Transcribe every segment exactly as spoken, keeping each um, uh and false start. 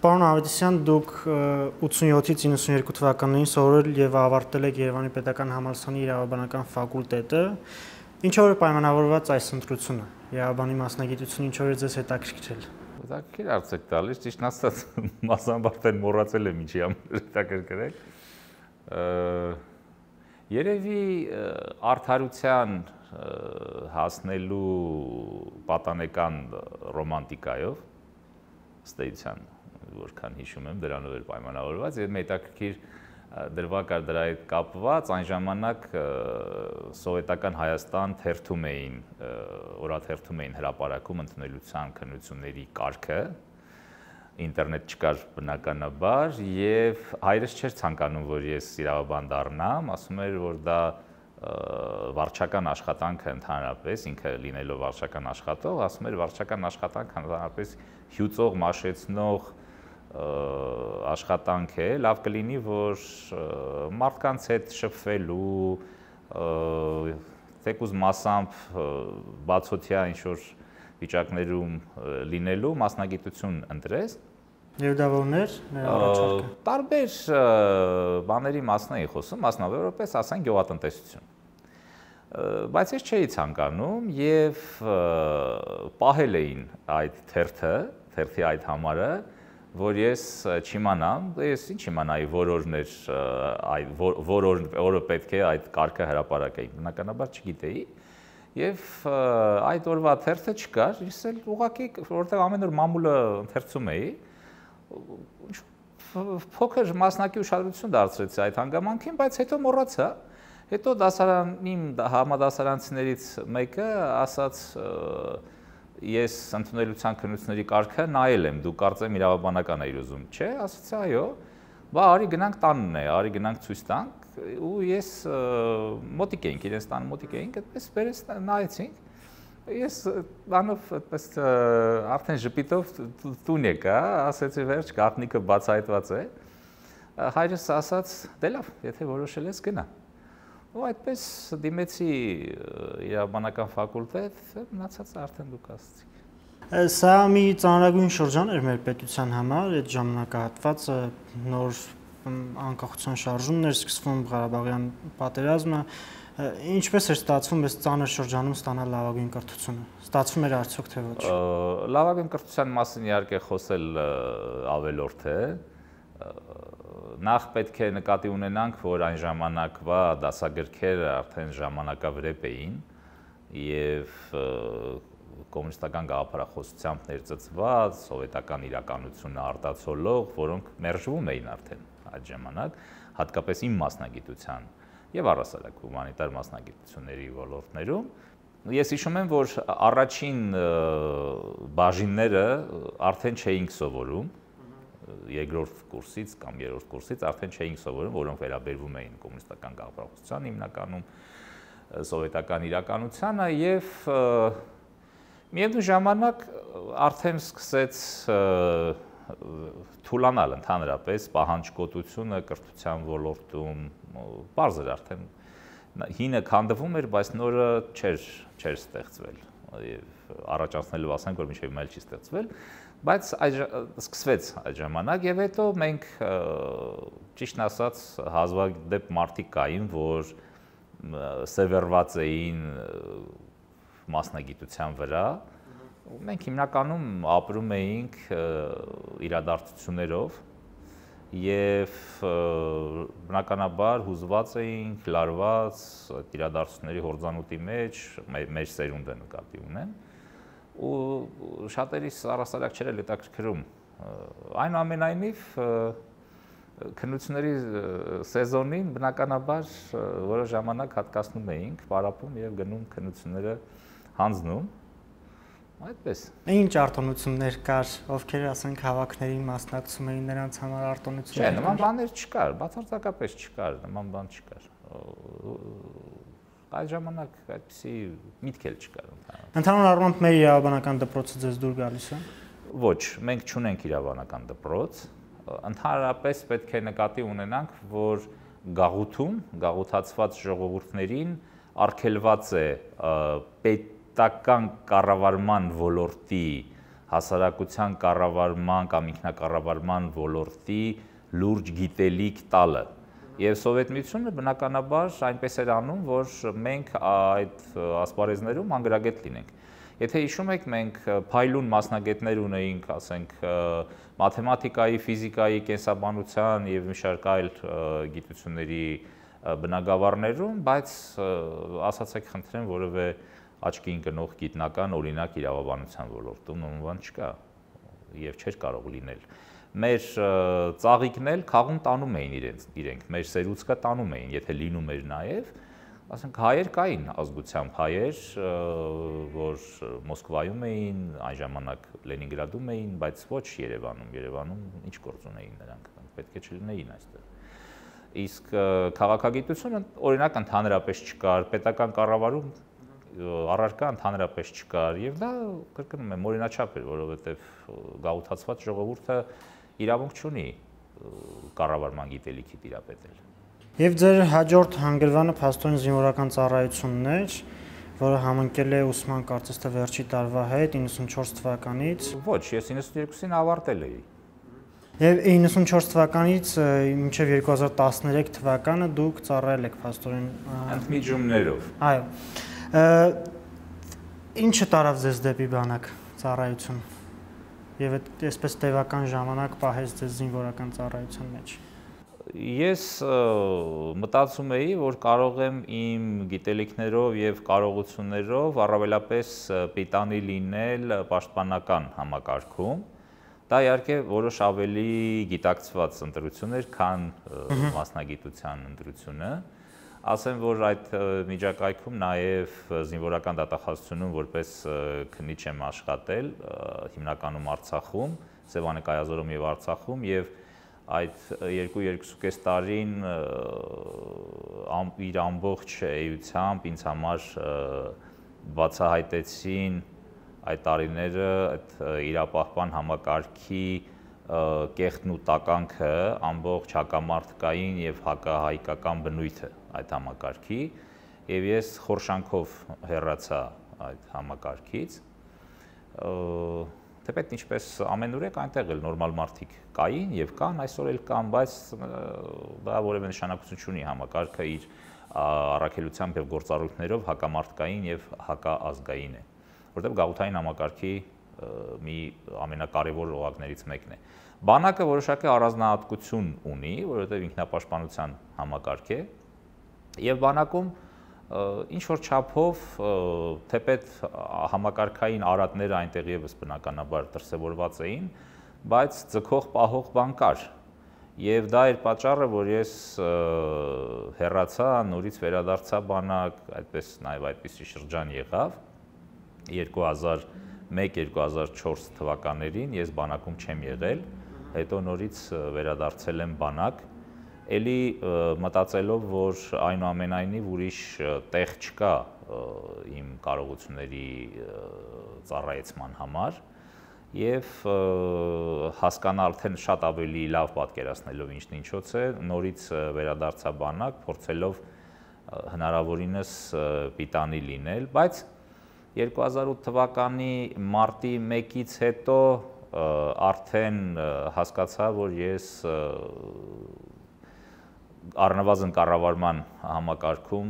Պարոն Ավետիսյան, դուք ութսունյոթից իննսունյերկու թվականներին սովորել եւ ավարտել եք Երևանի Պետական Համալսարանի իրավաբանական ֆակուլտետը։ Ինչով է պայմանավորված այս ընտրությունը։ Իրավաբանի մասնագիտությունը ինչով է ձեզ հետաքրքրել։ Հետաքրքիր հարց եք տալիս, ճիշտն ասած մասնաբարձել մոռացել եմ ինչի համար հետաքրքրել։ Երևի արդարության հասնելու պատանեկան ռոմանտիկայով ստեյցիան, որքան հիշում եմ, դրանով էր պայմանավորված, եւ հետաքրքիր դրվագ կար դրա հետ կապված, այն ժամանակ սովետական Հայաստան թերթում էին, օրաթերթում էին հրապարակում ընդունելության քննությունների կարգը, ինտերնետ չկար բնականաբար, եւ հայրս չէր ցանկանում, որ ես իրավաբան դառնամ, ասում էր, որ դա վարչական աշխատանքը ընդհանրապես, ինքը լինելով վարչական աշխատող, ասում էր վարչական աշխատանքը ընդհանրապես հյուծող, մաշեցնող աշխատանք է, լավ կլինի, որ մարդկանց հետ շփվելու, թեկուզ մասամբ բացօթյա ինչ-որ վիճակներում լինելու մասնագիտություն ընտրես։ Եվ դա որն էր նրա առաջարկը։ Տարբեր բաների մասն էի խոսում, մասնավորապես ասենք գյուղատնտեսություն։ Բայց ես չէի ցանկանում եւ պահել էին այդ թերթը, թերթի այդ համարը, որ ես չիմանամ, ես ինչ իմանայի, որ օրն էր այդ որ օրը պետք է այդ կարգը հրապարակեի, բնականաբար չգիտեի, եւ այդ օրվա թերթը չկար, ես էլ ուղղակի որտեղ ամեն օր մամուլը ընթերցում էի, փոքր մասնակի ուշադրություն դարձրեցի այդ հանգամանքին, բայց հետո մոռացա, հետո դասարանի համադասարանցիներից մեկը ասաց ես ընդունելության քննությունների կարգը նայել եմ, դու կարծեմ իրավաբանական էիր ուզում, չէ, ասացի այո, բա արի գնանք տանն է, արի գնանք ցույց տանք, ու ես մոտիկ էինք, իրենց տանը մոտիկ էինք, այդպես բերես նայեցինք, ես բանով այդպես արդեն ժպիտով տուն եկա, ասեցի վերջ, գաղտնիքը բացահայտված է, հայրս ասաց, դե լավ, եթե որոշել ես գնա, ու այդպես դիմեցի իրավաբանական ֆակուլտետ, մնացածը արդեն դուք ասացիք։ Սա մի ծանրագույն շրջան էր մեր պետության համար, այդ ժամանակահատվածը նոր անկախության շարժումն էր սկսվում, Ղարաբաղյան պատերազմը, ինչպես էր ստացվում այս ծանր շրջանում ստանալ լավագույն կրթությունը։ Ստացվում էր արդյոք թե ոչ։ Լավագույն կրթության մասին իհարկե խոսել ավելորդ է։ Նախ պետք է նկատի ունենանք, որ այն ժամանակվա դասագրքերը արդեն ժամանակավրեպ էին եւ կոմունիստական գաղափարախոսությամբ ներծծված, սովետական իրականությունը արտացոլող, որոնք մերժվում էին արդեն այդ ժամանակ, հատկապես իմ մասնագիտության եւ առհասարակ հումանիտար մասնագիտությունների ոլորտներում։ Ես հիշում եմ, որ առաջին բաժինները արդեն չէինք սովորում, երկրորդ կուրսից կամ երրորդ կուրսից արդեն չէինք սովորում, որոնք վերաբերվում էին կոմունիստական գաղափարախոսությանը, հիմնականում սովետական իրականությանը եւ միևնույն ժամանակ արդեն սկսեց թուլանալ ընդհանրապես պահանջկոտությունը կրթության ոլորտում, բարձ էր արդեն հինը քանդվում էր, բայց նորը չէր չէր ստեղծվել եւ առաջ անցնելով ասենք, որ մինչեւ այլ չի ստեղծվել, բայց սկսվեց այդ ժամանակ եւ հետո մենք ճիշտն ասած հազվադեպ մարդիկ կային, որ սևեռված էին մասնագիտության վրա, մենք հիմնականում ապրում էինք իրադարձություններով եւ բնականաբար հուզված էինք, լարված իրադարձությունների հորձանուտի մեջ, մեր սերունդը նկատի ունեմ, ու շատերիս առհասարակ չէր հետաքրքրում։ Այնուամենայնիվ քննությունների սեզոնին բնականաբար որոշ ժամանակ հատկացնում էինք, պարապում եւ գնում քննությունները հանձնում։ Այդպես։ Ինչ արտոնություններ կար, ովքեր ասենք հավաքներին մասնակցում էին, նրանց համար արտոնություններ։ Չէ, նման բաներ չկար, բացարձակապես չկար, նման բան չկար։ Այդ ժամանակ այդպիսի միտք էլ չկար։ Ընդհանուր առմամբ մեր իրավաբանական դպրոցը ձեզ դուր գալիս է։ Ոչ, մենք չունենք իրավաբանական դպրոց։ Ընդհանրապես պետք է նկատի ունենանք, որ գաղութում, գաղութացված ժողովուրդներին արգելված է պետական կառավարման ոլորտի հասարակության կառավարման կամ ինքնակառավարման ոլորտի լուրջ գիտելիք տալը։ Եվ Սովետ միությունը բնականաբար այնպես էր անում, որ մենք այդ ասպարեզներում անգրագետ լինենք։ Եթե հիշում եք, մենք փայլուն մասնագետներ ունեինք, ասենք, մաթեմատիկայի, ֆիզիկայի, կենսաբանության եւ մի շարք այլ գիտությունների բնագավառներում, բայց ասացեք խնդրեմ, որևէ աչքին կնող գիտնական օրինակ իրավաբանության ոլորտում նույն բան չկա եւ չէր կարող լինել։ Մեր ծաղիկն էլ քաղում տանում էին իրենց, իրենք, մեր սերուցքը տանում էին, եթե լինում էր նաեւ, ասենք հայեր կային ազգությամբ հայեր, որ Մոսկվայում էին, այն ժամանակ Լենինգրադում էին, բայց ոչ Երևանում, Երևանում ինչ գործ ունեին նրանք, պետք է չլինեին այստեղ։ Իսկ քաղաքագիտությունը օրինակ ընդհանրապես չկար, պետական կառավարում առարկա ընդհանրապես չկար եւ դա կրկնում եմ օրինաչափ էր, որովհետեւ գաղութացված ժողովուրդը իրավունք չունի կառավարման գիտելիքի տիրապետել։ Եվ ձեր հաջորդ հանգրվանը փաստորեն զինվորական ծառայությունն էր, որը համընկել է ուսման կարծես թե վերջի տարվա հետ իննսունչորս թվականից։ Ոչ, ես իննսունչին ավարտել էի։ Եվ իննսունչորս թվականից մինչև երկու հազար տասներեք թվականը դուք ծառայել եք փաստորեն ընդմիջումներով։ Այո։ Ինչը տարավ ձեզ դեպի բանակ ծառայություն։ Եվ այսպես տևական ժամանակ պահեց ձեզ զինվորական ծառայության մեջ։ Ես մտածում էի, որ կարող եմ իմ գիտելիքներով եւ կարողություններով առավելապես պիտանի լինել պաշտպանական համակարգում։ Դա իհարկե որոշ ավելի գիտակցված ընտրություն էր, քան մասնագիտության ընտրությունը։ Ասեմ, որ այդ միջակայքում նաև զինվորական դատախազությունում որպես քննիչ եմ աշխատել, հիմնականում Արցախում, Սևանե-Կայազորում եւ Արցախում, եւ այդ երկու երկուսուկես տարին իր ամբողջ էությամբ ինձ համար բացահայտեցին այդ տարիները այդ իրապահպան համակարգի կեղտն ու տականքը, ամբողջ հակամարտկային եւ հակահայկական բնույթը այդ համակարգի, եւ ես խորշանքով հեռացա այդ համակարգից։ Թեպետ ինչպես ամենուրեք այնտեղ էլ նորմալ մարդիկ կային եւ կան, այսօր էլ կան, բայց դա որևէ նշանակություն չունի, համակարգը իր առաքելությամբ եւ գործառույթներով հակամարտկային եւ հակաազգային է, որտեղ գաղութային համակարգի մի ամենակարևոր օղակներից մեկն է։ Բանակը որոշակի առանձնահատկություն ունի, որովհետեւ ինքնապաշտպանության համակարգ է, եւ բանակում ինչ որ չափով թեպետ համակարգային արատները այնտեղ եւս բնականաբար դրսևորված էին, բայց ձգող պահող բան կար։ Եվ դա էր պատճառը, որ ես հեռացա, նորից վերադարձա բանակ, այդպես նաեւ այդպիսի շրջան եղավ երկու հազար մեկ երկու հազար չորս թվականներին ես բանակում չեմ եղել, հետո նորից վերադարձել եմ բանակ, էլի մտածելով, որ այնուամենայնիվ ուրիշ տեղ չկա իմ կարողությունների ծառայեցման համար եւ հասկանալ արդեն շատ ավելի լավ պատկերացնելով ինչն ինչոց է, նորից վերադարձա բանակ, փորձելով հնարավորինս պիտանի լինել, բայց երկու հազար ութ թվականի մարտի մեկից հետո արդեն հասկացա, որ ես առնվազն կառավարման համակարգում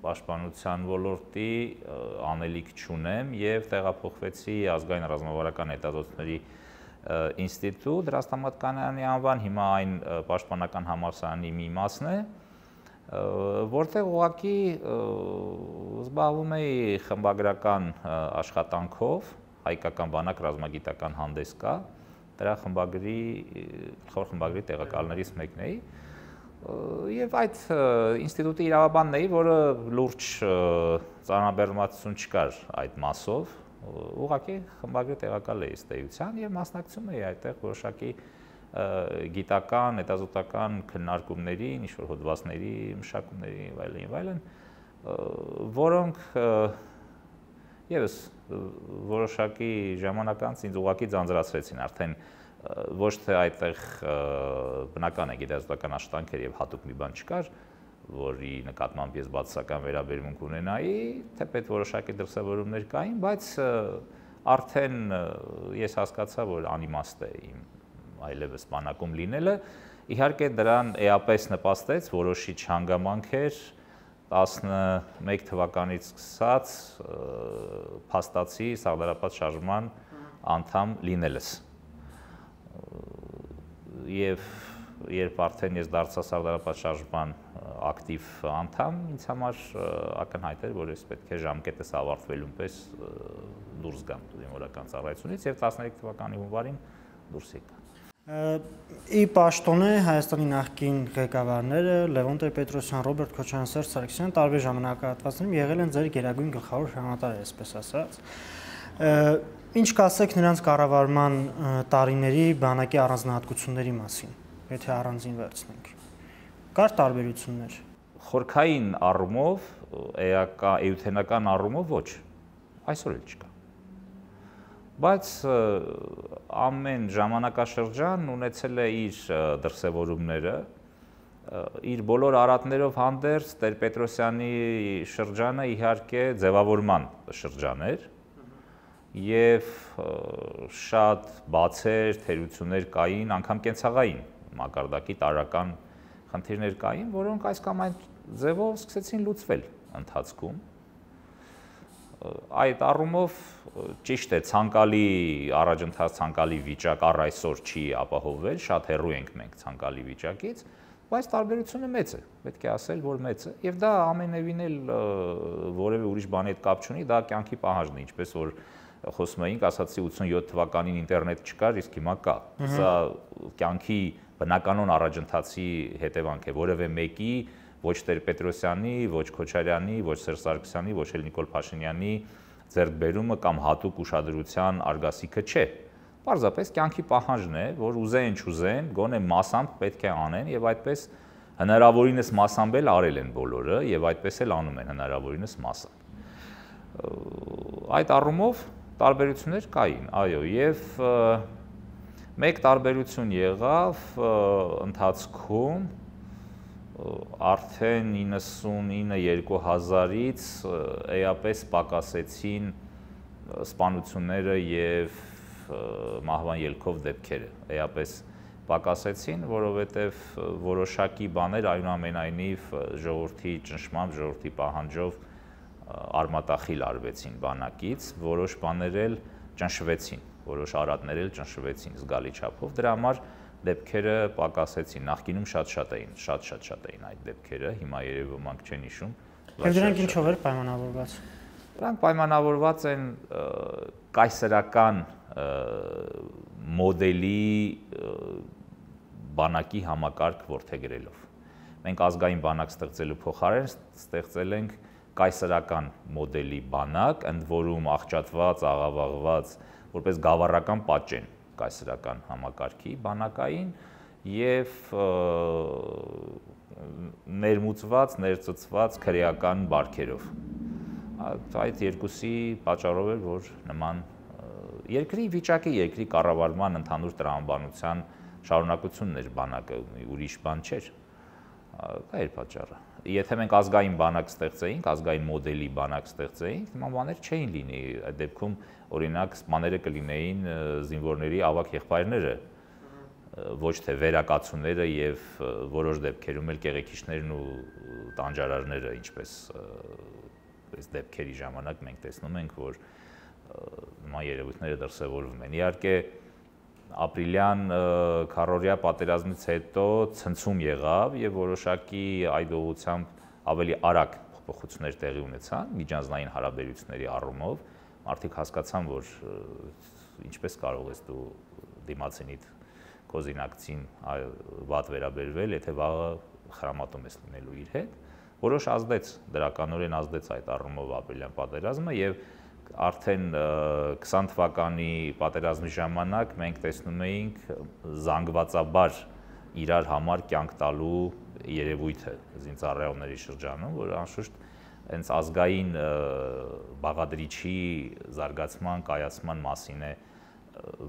պաշտպանության ոլորտի անելիք չունեմ եւ տեղափոխվեցի ազգային ռազմավարական հետազոտությունների ինստիտուտ Ռաստամատկանյանի անվան, հիմա այն պաշտպանական համալսարանի մի մասն է, որտեղ ուղղակի զբաղվում էի խմբագրական աշխատանքով, հայկական բանակ ռազմագիտական հանդես կա, դրա խմբագրի գլխավոր խմբագրի տեղակալներից մեկն էի, եւ այդ ինստիտուտի իրավաբանն էի, որը լուրջ ծանրաբեռնվածություն չկար այդ մասով, ուղղակի խմբագրի տեղակալ էի ըստ էության եւ մասնակցում էի այդտեղ որոշակի գիտական, հետազոտական քննարկումների, ինչ-որ հոդվածների, մշակումների եւ այլն եւ այլն, որոնք եւս որոշակի ժամանակ անց ինձ ուղղակի ձանձրացրեցին, արդեն ոչ թե այդտեղ բնական է գիտազոտական աշխատանքեր եւ հատուկ մի բան չկար, որի նկատմամբ ես բացասական վերաբերմունք ունենայի, թեպետ որոշակի դրսևորումներ կային, բայց արդեն ես հասկացա, որ անիմաստ է իմ այլևս բանակում լինելը, իհարկե դրան էապես նպաստեց որոշիչ հանգամանքեր տասնմեկ թվականից սկսած փաստացի Սաղդարապատ շարժման անդամ լինելս։ Եվ երբ արդեն ես դարձա Սաղդարապատ շարժման ակտիվ անդամ, ինձ համար ակնհայտ էր, որ ես պետք է ժամկետս ավարտվելուն պես դուրս գամ զինվորական ծառայությունից եւ տասներեք թվականի հունվարին դուրս եկա։ Ի պաշտոնե Հայաստանի նախկին ղեկավարները Լևոն Տեր-Պետրոսյան, Ռոբերտ Քոչարյան, Սերժ Սարգսյան տարբեր ժամանակահատվածներում եղել են ձեր գերագույն գլխավոր հրամանատարը, այսպես ասած։ Ինչ կասեք նրանց կառավարման տարիների բանակի առանձնահատկությունների մասին, եթե առանձին վերցնենք։ Կար տարբերություններ։ Խորքային առումով, էութենական առումով ոչ, այսօր էլ չկա։ Բայց ամեն ժամանակաշրջան ունեցել է իր դրսևորումները, իր բոլոր արատներով հանդերձ Տեր-Պետրոսյանի շրջանը իհարկե ձևավորման շրջան էր եւ շատ բացեր, թերություններ կային, անգամ կենցաղային մակարդակի տարրական խնդիրներ կային, որոնք այս կամ այն ձևով սկսեցին լուծվել ընթացքում։ Այդ առումով ճիշտ է, ցանկալի առաջընթաց, ցանկալի վիճակ առ այսօր չի ապահովվել, շատ հեռու ենք մենք ցանկալի վիճակից, բայց տարբերությունը մեծ է, պետք է ասել, որ մեծ է, եւ դա ամենևին էլ որևէ ուրիշ բանի հետ կապ չունի, դա կյանքի պահանջն է, ինչպես որ խոսում էինք, ասացի ութսունյոթ թվականին ինտերնետ չկար, իսկ հիմա կա։ Սա կյանքի բնականon առաջընթացի հետևանք է, որևէ մեկի ոչ Տեր-Պետրոսյանի, ոչ Քոչարյանի, ոչ Սերժ Սարգսյանի, ոչ էլ Նիկոլ Փաշինյանի ձեռքբերումը կամ հատուկ ուշադրության արգասիքը չէ։ Պարզապես կյանքի պահանջն է, որ ուզեն չուզեն, գոնե մասամբ պետք է անեն եւ այդպես հնարավորինս մասամբ էլ արել են բոլորը եւ այդպես էլ անում են հնարավորինս մասամբ։ Այդ առումով տարբերություններ կային, այո, եւ մեկ տարբերություն եղավ ընթացքում արդեն իննսունինը երկու հազարից էապես պակասեցին սպանությունները եւ մահվան ելքով դեպքերը, էապես պակասեցին, որովհետեւ որոշակի բաներ այնուամենայնիվ ժողովրդի ճնշմամբ, ժողովրդի պահանջով արմատախիլ արվեցին բանակից, որոշ բաներ էլ ճնշվեցին, որոշ արատներ էլ ճնշվեցին զգալի չափով, դրա համար դեպքերը պակասեցին, նախկինում շատ-շատ էին, շատ-շատ-շատ էին այդ դեպքերը, հիմա երևի ոմանք չեն հիշում։ Եվ դրանք ինչով էր պայմանավորված։ Դրանք պայմանավորված են կայսերական մոդելի բանակի համակարգ որդեգրելով։ Մենք ազգային բանակ ստեղծելու փոխարեն ստեղծել ենք կայսերական մոդելի բանակ, ընդ որում աղճատված, աղավաղված, որպես գավառական պատճեն կայսերական համակարգի բանակային եւ ներմուծված, ներծծված քրեական բարքերով։ Այդ երկուսի պատճառով էր, որ նման երկրի վիճակի, երկրի կառավարման ընդհանուր տրամաբանության շարունակությունն էր բանակը, ուրիշ բան չէր։ Դա էր պատճառը։ Եթե մենք ազգային բանակ ստեղծեինք, ազգային մոդելի բանակ ստեղծեինք, նման բաներ չէին լինի։ Այդ դեպքում օրինակ սպաները կլինեին զինվորների ավագ եղբայրները, ոչ թե վերակացուները եւ որոշ դեպքերում էլ կեղեքիչներն ու տանջարարները, ինչպես այս դեպքերի ժամանակ մենք տեսնում ենք, որ նման երևույթները դրսևորվում են։ Իհարկե ապրիլյան քառօրյա պատերազմից հետո ցնցում եղավ եւ որոշակի այդ ուղղությամբ ավելի արագ փոփոխություններ տեղի ունեցան միջանձնային հարաբերությունների առումով։ Մարդիկ հասկացան, որ ինչպես կարող ես դու դիմացինիդ քո զինակցին վատ վերաբերվել, եթե վաղը խրամատում ես լինելու իր հետ։ Որոշ ազդեց, դրականորեն ազդեց այդ առումով ապրիլյան պատերազմը եւ արդեն քսան թվականի պատերազմի ժամանակ մենք տեսնում էինք զանգվածաբար իրար համար կյանք տալու երևույթը զինծառայողների շրջանում, որ անշուշտ հենց ազգային բաղադրիչի զարգացման, կայացման մասին է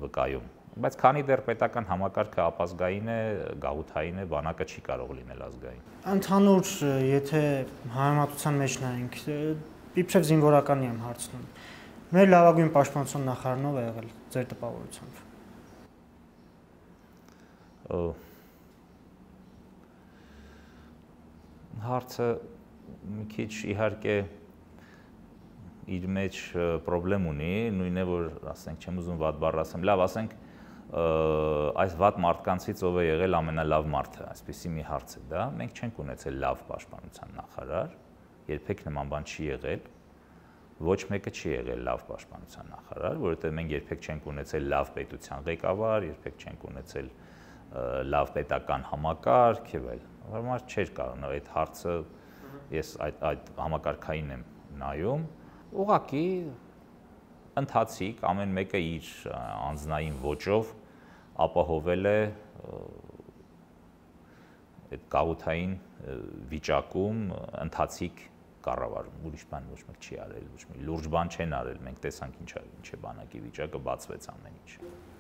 վկայում։ Բայց քանի դեռ պետական համակարգը ապազգային է, գաղութային է, բանակը չի կարող լինել ազգային։ Ընդհանուր, եթե համեմատության մեջ նայենք, իբրև զինվորականի եմ հարցնում, Մեր լավագույն պաշտպանության նախարարն ով է եղել ձեր տպավորությամբ։ Հարցը մի քիչ իհարկե իր մեջ խնդրեմ ունի, նույնն է որ ասենք չեմ ուզում վատ բառ ասեմ, լավ ասենք այս վատ մարդկանցից ով է եղել ամենալավ մարդը, այսպեսի մի հարց է դա, մենք չենք ունեցել լավ պաշտպանության նախարար, երբեք նման բան չի եղել, ոչ մեկը չի եղել լավ պաշտպանության նախարար, որովհետև մենք երբեք չենք ունեցել լավ պետության ղեկավար, երբեք չենք ունեցել լավ պետական համակարգ եւ այլն։ Ուրեմն չէր կարող այդ հարցը ես այդ այդ համակարգային եմ նայում, ուղղակի ընթացիկ ամեն մեկը իր անձնային ոճով ապահովել է այդ գաղութային վիճակում ընթացիկ կառավարում, ուրիշ բան ոչ մեկ չի արել, ոչ մի լուրջ բան չեն արել, մենք տեսանք ինչ ինչ է բանակի վիճակը, բացվեց ամեն ինչ։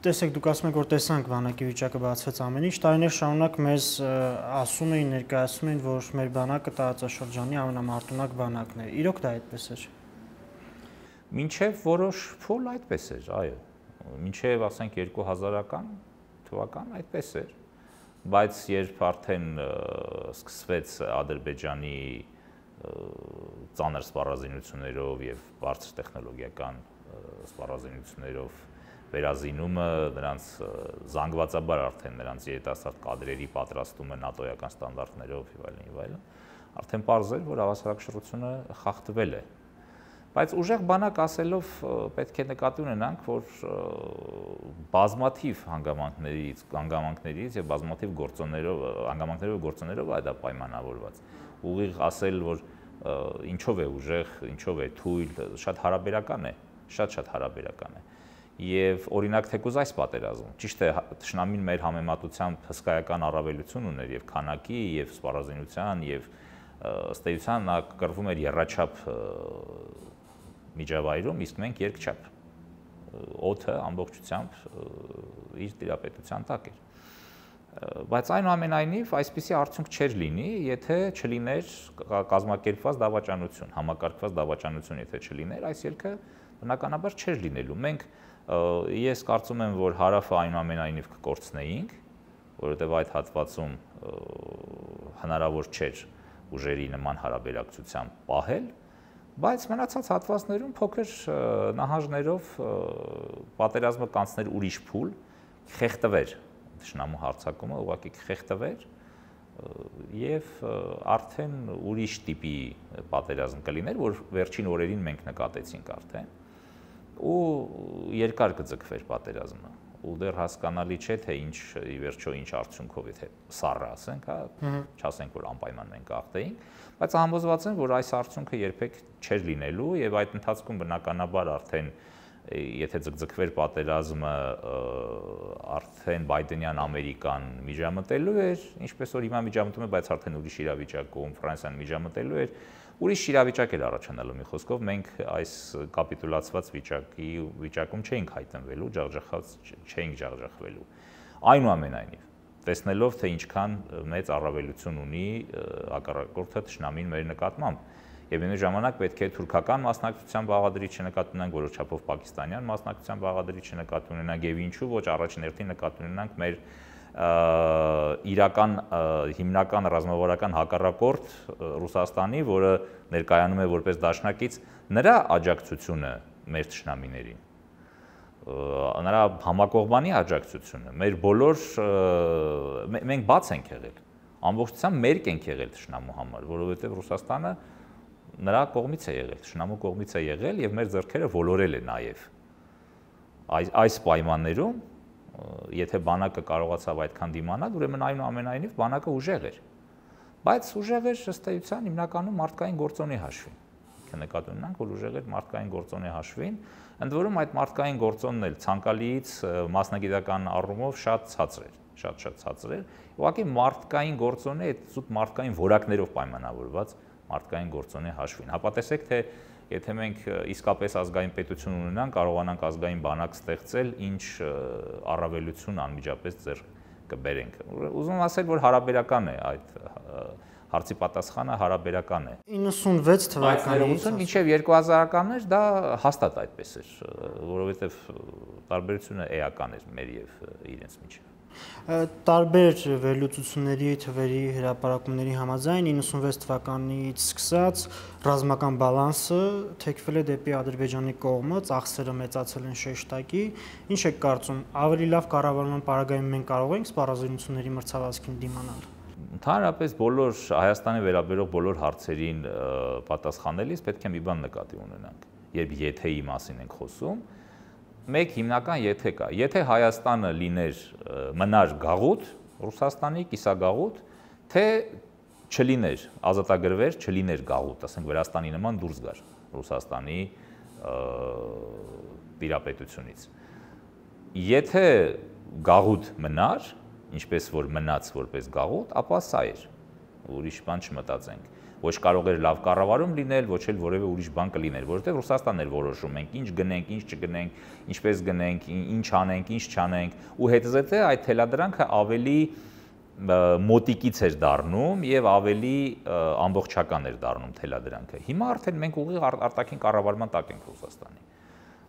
Տեսեք, դուք ասում եք, որ տեսանք բանակի վիճակը, բացվեց ամեն ինչ, տարիներ շարունակ մեզ ասում էին, ներկայացնում էին, որ մեր բանակը տարածաշրջանի ամենամարտունակ բանակն է։ Իրոք դա այդպես էր։ Մինչև որոշ փուլ այդպես էր, այո։ Մինչև ասենք երկու հազարական թվական այդպես էր։ Բայց երբ արդեն սկսվեց Ադրբեջանի ծանր սպառազինություններով եւ բարձր տեխնոլոգիական սպառազինություններով վերազինումը, նրանց զանգվածաբար արդեն նրանց երիտասարդ կադրերի պատրաստումը նատոյական ստանդարտներով եւ այլն եւ այլն, արդեն պարզ էր, որ հավասարակշռությունը խախտվել է։ Բայց ուժեղ բանակ ասելով պետք է նկատի ունենանք, որ բազմաթիվ հանգամանքներից, հանգամանքներից եւ բազմաթիվ գործոններով, հանգամանքներով գործոններով է դա պայմանավորված։ Ուղիղ ասել, որ ինչով է ուժեղ, ինչով է թույլ, շատ հարաբերական է, շատ-շատ հարաբերական է։ Եվ օրինակ թեկուզ այս պատերազմում, ճիշտ է, թշնամին մեր համեմատությամբ հսկայական առավելություն ուներ եւ քանակի, եւ սպառազինության, եւ ըստ էության նա կռվում էր եռաչափ միջավայրում, իսկ մենք երկչափ։ Օդը ամբողջությամբ իր տիրապետության տակ էր։ Բայց այնուամենայնիվ այսպիսի արդյունք չէր լինի, եթե չլիներ կազմակերպված դավաճանություն, համակարգված դավաճանություն, եթե չլիներ, այս ելքը բնականաբար չէր լինելու։ Մենք ես կարծում եմ, որ հարավը այնուամենայնիվ կկորցնեինք, որովհետև այդ հատվածում հնարավոր չէր ուժերի նման հարաբերակցությամբ պահել, բայց մնացած հատվածներում փոքր նահանջներով պատերազմը կանցներ ուրիշ փուլ, խեղդվեր թշնամու հարձակումը, ուղղակի խեղդվեր եւ արդեն ուրիշ տիպի պատերազմ կլիներ, որ վերջին օրերին մենք նկատեցինք արդեն, ու երկար կձգվեր պատերազմը, ու դեռ հասկանալի չէ, թե ինչ ի վերջո ինչ արդյունքով, եթե սառը ասենք, հա, չասենք, որ անպայման մենք աղթեինք, բայց համոզված եմ, որ այս արդյունքը երբեք չէր լինելու եւ այդ ընթացքում բնականաբար արդեն եթե ձգձգվեր պատերազմը, արդեն Բայդենյան Ամերիկան միջամտելու էր, ինչպես որ հիմա միջամտում է, բայց արդեն ուրիշ իրավիճակում, Ֆրանսիան միջամտելու էր, ուրիշ իրավիճակ էր առաջանալու, մի խոսքով մենք այս կապիտուլացված վիճակի վիճակում չէինք հայտնվելու, ջախջախած չէինք ջախջախվելու։ Այնուամենայնիվ, տեսնելով թե ինչքան մեծ առավելություն ունի հակառակորդը թշնամին մեր նկատմամբ, եւ միևնույն ժամանակ պետք է թուրքական մասնակցության բաղադրիչ նկատի ունենանք, որոշ չափով պակիստանյան մասնակցության բաղադրիչ նկատի ունենանք եւ ինչու ոչ առաջին հերթին նկատի ունենանք մեր իրական հիմնական ռազմավարական հակառակորդ Ռուսաստանի, որը ներկայանում է որպես դաշնակից, նրա աջակցությունը մեր թշնամիներին, նրա համակողմանի աջակցությունը, մեր բոլոր մենք բաց ենք եղել, ամբողջությամբ մերկ ենք եղել թշնամու համար, որովհետեւ Ռուսաստանը նրա կողմից է եղել, թշնամու կողմից է եղել եւ մեր ձեռքերը ոլորել է նաեւ։ Այս այս պայմաններում, եթե բանակը կարողացավ այդքան դիմանալ, ուրեմն այնուամենայնիվ բանակը ուժեղ էր։ Բայց ուժեղ էր ըստ էության հիմնականում մարդկային գործոնի հաշվին։ Նկատի ունենանք, որ ուժեղ էր մարդկային գործոնի հաշվին, ընդ որում այդ մարդկային գործոնն էլ ցանկալիից մասնագիտական առումով շատ ցածր էր, շատ-շատ ցածր էր։ Ուղղակի մարդկային գործոնը այդ զուտ մարդկային որակներով պայմանավորված մարդկային գործոնի հաշվին։ Հապա տեսեք, թե եթե մենք իսկապես ազգային պետություն ունենանք, կարողանանք ազգային բանակ ստեղծել, ինչ առավելություն անմիջապես ձեռք կբերենք։ Ուզում եմ ասել, որ հարաբերական է այդ հարցի պատասխանը հարաբերական է։ իննսունվեց թվականից մինչև երկու հազարականներ դա հաստատ այդպես էր, որովհետև տարբերությունը էական էր մեր եւ իրենց միջեւ։ Տարբեր վերլուծությունների թվերի հրապարակումների համաձայն իննսունվեց թվականից սկսած ռազմական բալանսը թեքվել է դեպի Ադրբեջանի կողմը, ծախսերը մեծացել են շեշտակի։ Ինչ եք կարծում, ավելի լավ կառավարման պարագայում մենք կարող ենք սպառազինությունների մրցավազքին դիմանալ։ Ընդհանրապես բոլոր Հայաստանի վերաբերող բոլոր հարցերին պատասխանելիս պետք է մի բան նկատի ունենանք, երբ եթեի մասին ենք խոսում, մեկ հիմնական եթե կա, եթե Հայաստանը լիներ մնար գաղութ, Ռուսաստանի կիսագաղութ, թե չլիներ, ազատագրվեր, չլիներ գաղութ, ասենք Վրաստանի նման դուրս գար Ռուսաստանի տիրապետությունից։ Եթե գաղութ մնար, ինչպես որ մնաց որպես գաղութ, ապա սա էր, ուրիշ բան չմտածենք։ Ոչ կարող էր լավ կառավարում լինել, ոչ էլ որևէ ուրիշ բան կլիներ, որովհետև Ռուսաստանն էր որոշում ենք, ինչ գնենք, ինչ չգնենք, ինչպես գնենք, ինչ անենք, ինչ չանենք, ու հետզհետե այդ թելադրանքը ավելի մոտիկից էր դառնում եւ ավելի ամբողջական էր դառնում թելադրանքը։ Հիմա արդեն մենք ուղիղ արտաքին կառավարման տակ ենք Ռուսաստանի։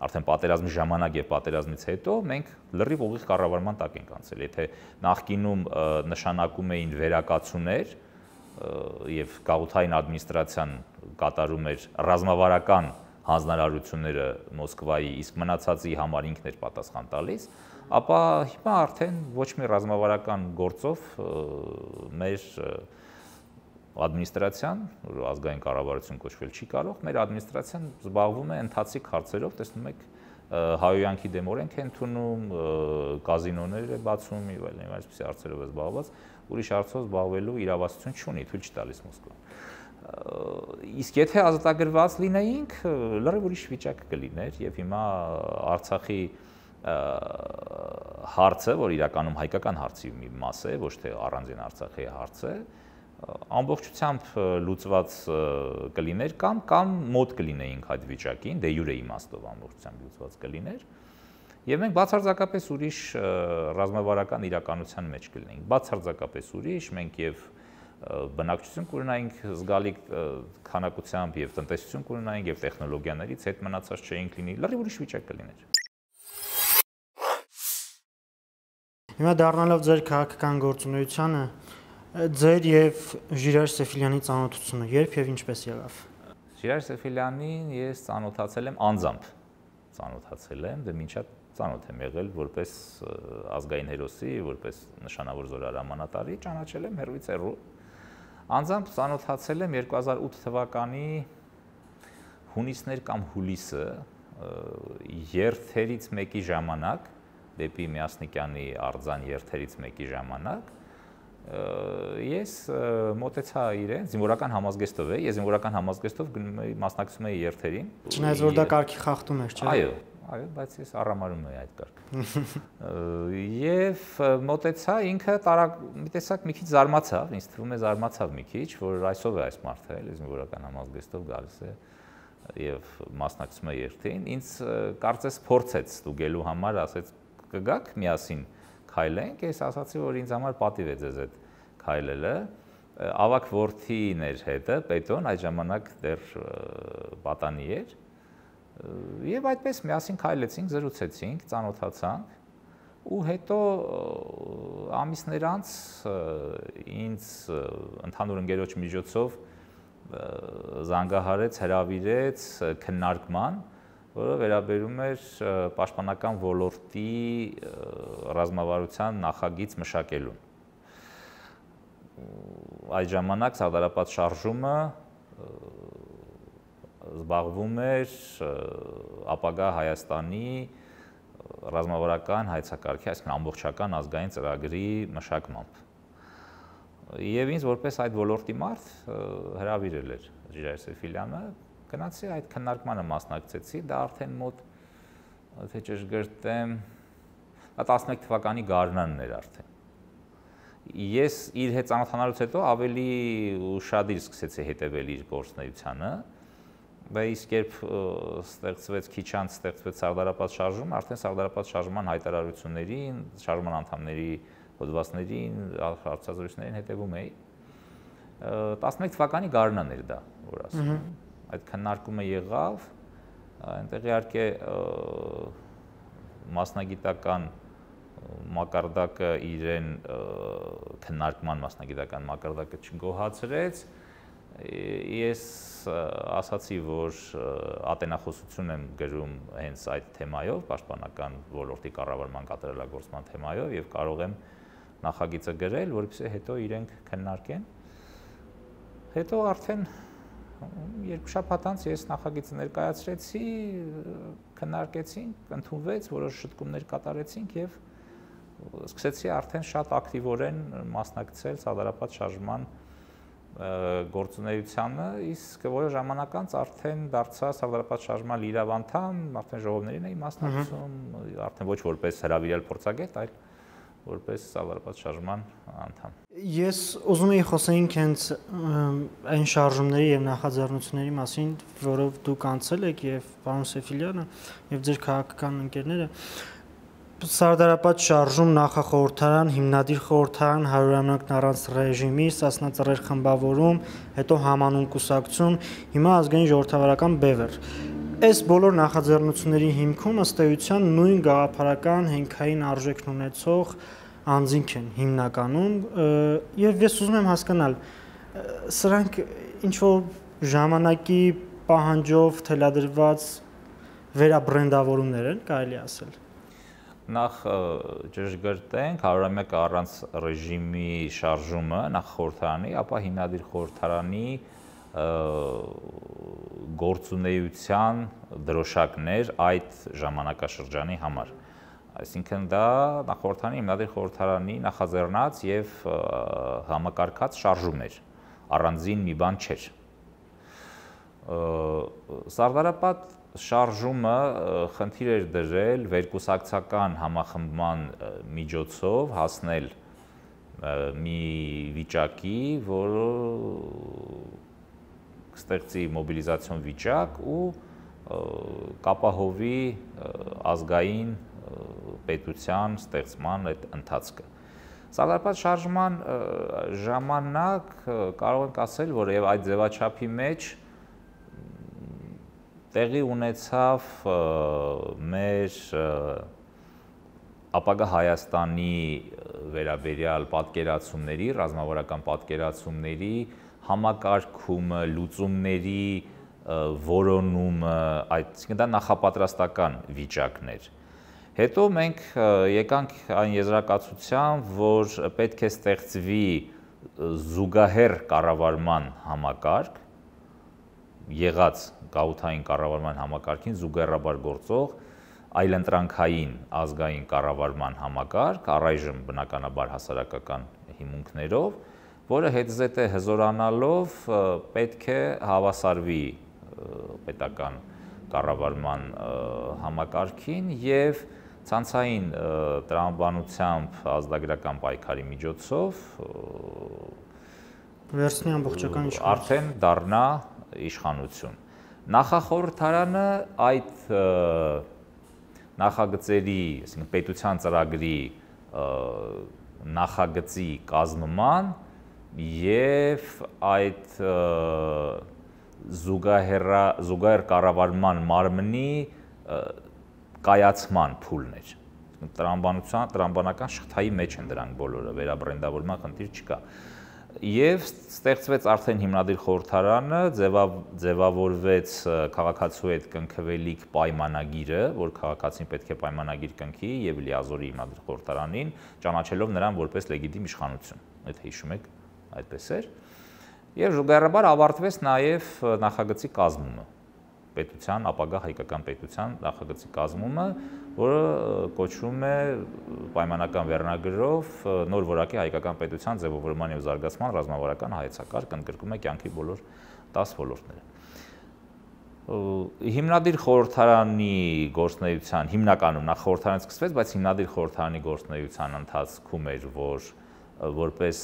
Արդեն պատերազմի ժամանակ եւ պատերազմից հետո մենք լրիվ ուղիղ կառավարման տակ ենք անցել։ Եթե նախկինում նշանակում էին վերակացուներ եւ գաղութային ադմինիստրացիան կատարում էր ռազմավարական հանձնարարությունները Մոսկվայի, իսկ մնացածի համար ինքն էր պատասխան տալիս, ապա հիմա արդեն ոչ մի ռազմավարական գործով մեր ադմինիստրացիան, ազգային կառավարություն կոչվել չի կարող, մեր ադմինիստրացիան զբաղվում է ընթացիկ հարցերով, տեսնում եք, հայոյանքի դեմ օրենք է ընդունում, կազինոներ է բացում եւ այլն, այսպիսի հարցերով է զբաղված, ուրիշ հարցով զբաղվելու իրավասություն չունի, թույլ չի տալիս Մոսկվան։ Իսկ եթե ազատագրված լինեինք, լրիվ ուրիշ վիճակ կլիներ եւ հիմա Արցախի հարցը, որ իրականում հայկական հարցի մի մաս է, ոչ թե առանձին Արցախի հարց է, ամբողջությամբ լուծված կլիներ կամ կամ մոտ կլինեինք այդ վիճակին, դե յուրե իմաստով ամբողջությամբ լուծված կլիներ, եւ մենք բացարձակապես ուրիշ ռազմավարական իրականության մեջ կլինեինք, բացարձակապես ուրիշ, մենք եւ բնակչություն կունենայինք զգալի քանակությամբ եւ տնտեսություն կունենայինք եւ տեխնոլոգիաներից հետ մնացած չէինք լինի, լրիվ ուրիշ վիճակ կլիներ։ Հիմա դառնալով ձեր քաղաքական գործունեությանը, ձեր եւ Ժիրայր Սեֆիլյանի ծանոթությունը երբ եւ ինչպես եղավ։ Ժիրայր Սեֆիլյանին ես ծանոթացել եմ անձամբ, ծանոթացել եմ, դե մինչև ծանոթ եմ եղել որպես ազգային հերոսի, որպես նշանավոր զորահրամանատարի, ճանաչել եմ հեռվից հեռու։ Անձամբ ծանոթացել եմ երկու հազար ութ թվականի հունիսներ կամ հուլիսը երթերից մեկի ժամանակ, դեպի Միասնիկյանի արձան երթերից մեկի ժամանակ, ես մոտեցա իրեն, զինվորական համազգեստով է, ես զինվորական համազգեստով մասնակցում էի երթերին։ Չնայած որ դա կարգի խախտում էր, չէ՞։ Այո, այո, բայց ես առամարում էի այդ կարգը։ Եվ մոտեցա ինքը տարակ մի տեսակ մի քիչ զարմացավ, ինձ թվում է զարմացավ մի քիչ, որ այսով է այս մարդը, էլի զինվորական համազգեստով գալիս է եւ մասնակցում է երթին։ Ինձ կարծես փորձեց ստուգելու համար, ասեց կգաք միասին քայլենք, ես ասացի, որ ինձ համար պատիվ է ձեզ այդ քայլելը, ավակ որդին էր հետը, Պետոն, այդ ժամանակ դեռ պատանի էր, եւ այդպես միասին քայլեցինք, զրուցեցինք, ծանոթացանք, ու հետո ամիսներ անց ինձ ընդհանուր ընկերոջ միջոցով զանգահարեց, հրավիրեց քննարկման, որը վերաբերում էր պաշտպանական ոլորտի ռազմավարության նախագիծ մշակելուն։ Այդ ժամանակ Սարդարապատ շարժումը զբաղվում էր ապագա Հայաստանի ռազմավարական հայեցակարգի, այսինքն ամբողջական ազգային ծրագրի մշակմամբ։ Եվ ինձ որպես այդ ոլորտի մարդ հրավիրել էր Ժիրայր Սեֆիլյանը, գնացի այդ քննարկմանը մասնակցեցի, դա արդեն մոտ, թե ճշգրտեմ, տասնմեկ թվականի գարնանն էր արդեն։ Ես իր հետ ծանոթանալուց հետո ավելի ուշադիր սկսեցի հետևել իր գործունեությանը, բայց իսկ երբ ստեղծվեց քիչ անց ստեղծվեց Սարդարապատ շարժումը, արդեն Սարդարապատ շարժման հայտարարություններին, շարժման անդամների հոդվածներին, հարցազրույցներին հետևում էի։ տասնմեկ թվականի գարնան էր դա, որ ասում եմ։ Այդ քննարկումը եղավ, այնտեղ իհարկե մասնագիտական մակարդակը իրեն քննարկման մասնագիտական մակարդակը չգոհացրեց։ Ես ասացի, որ ատենախոսություն եմ գրում հենց այդ թեմայով, պաշտպանական ոլորտի կառավարման կատարելագործման թեմայով եւ կարող եմ նախագիծը գրել, որովհետեւ հետո իրենք քննարկեն։ Հետո արդեն երկու շաբաթ անց ես նախագիծը ներկայացրեցի, քննարկեցինք, ընդունվեց, որոշ շտկումներ կատարեցինք եւ սկսեցի արդեն շատ ակտիվորեն մասնակցել սարդարապատ շարժման գործունեությանը, իսկ որոշ ժամանակ անց արդեն դարձա սարդարապատ շարժման լիիրավ անդամ, արդեն ժողովներին էի մասնակցում, արդեն ոչ որպես հրավիրել փորձագետ, այլ որպես սարդարապատ շարժման անդամ։ Ես ուզում եի խոսեինք հենց այն շարժումների եւ նախաձեռնությունների մասին, որով դուք անցել եք եւ պարոն Սեֆիլյանը եւ ձեր քաղաքական ընկերները։ Սարդարապատ շարժում, նախախորհրդարան, հիմնադիր խորհրդարան, հարյուրամյակն առանց ռեժիմի, Սասնա ծռեր խմբավորում, հետո համանուն կուսակցություն, հիմա ազգային ժողովրդավարական բևեռ։ Այս բոլոր նախաձեռնությունների հիմքում ըստ էության նույն գաղափարական հենքային արժեքն ունեցող անձինք են հիմնականում, եւ ես ուզում եմ հասկանալ, սրանք ինչ որ ժամանակի պահանջով թելադրված վերաբրենդավորումներ են, կարելի ասել։ Նախ ճշգրտենք, հարյուրամյակը առանց ռեժիմի շարժումը նախախորհրդարանի, ապա հիմնադիր խորհրդարանի գործունեության դրոշակներ այդ ժամանակաշրջանի համար։ Այսինքն դա նախախորհրդարանի հիմնադիր խորհրդարանի նախաձեռնած եւ համակարգած շարժում էր, առանձին մի բան չէր։ Սարդարապատ շարժումը խնդիր էր դրել վերկուսակցական համախմբման միջոցով հասնել մի վիճակի, որը կստեղծի մոբիլիզացիոն վիճակ ու կապահովի ազգային պետության ստեղծման այդ ընթացքը։ Սարդարապատ շարժման ժամանակ կարող ենք ասել, որ եւ այդ ձևաչափի մեջ տեղի ունեցավ մեր ապագա Հայաստանի վերաբերյալ պատկերացումների, ռազմավարական պատկերացումների համակարգումը, լուծումների որոնումը, այսինքն դա նախապատրաստական վիճակներ։ Հետո մենք եկանք այն եզրակացության, որ պետք է ստեղծվի զուգահեռ կառավարման համակարգ, եղած գաղութային կառավարման համակարգին զուգահեռաբար գործող այլընտրանքային ազգային կառավարման համակարգ, առայժմ բնականաբար հասարակական հիմունքներով, որը հետզհետե հզորանալով պետք է հավասարվի պետական կառավարման համակարգին եւ ցանցային տրամաբանությամբ ազգագրական պայքարի միջոցով վերցնի ամբողջական իշխանություն, արդեն դառնա իշխանություն։ Նախախորհրդարանը այդ նախագծերի, այսինքն պետության ծրագրի նախագծի կազմման եւ այդ զուգահեռ կառավարման մարմնի կայացման փուլն էր։ Տրամաբանության, տրամաբանական շղթայի մեջ են դրանք բոլորը, վերաբրենդավորման խնդիր չկա։ Եվ ստեղծվեց արդեն հիմնադիր խորհրդարանը, ձևավորվեց քաղաքացու հետ կնքվելիք պայմանագիրը, որ քաղաքացին պետք է պայմանագիր կնքի եւ լիազորի հիմնադիր խորհրդարանին, ճանաչելով նրան որպես լեգիտիմ իշխանություն։ Այդ հիշում եք, այդպես էր։ Եվ զուգահեռաբար ավարտվեց նաեւ նախագծի կազմումը, պետության, ապագա հայկական պետության նախագծի կազմումը, որը կոչվում է պայմանական վերնագրով նոր որակի հայկական պետության ձևավորման եւ զարգացման ռազմավարական հայեցակարգ, ընդգրկում է կյանքի բոլոր տասը ոլորտները։ Հիմնադիր խորհրդարանի գործունեության հիմնականում նախ խորհրդարանից սկսվեց, բայց հիմնադիր խորհրդարանի գործունեության ընթացքում էր, որ որպես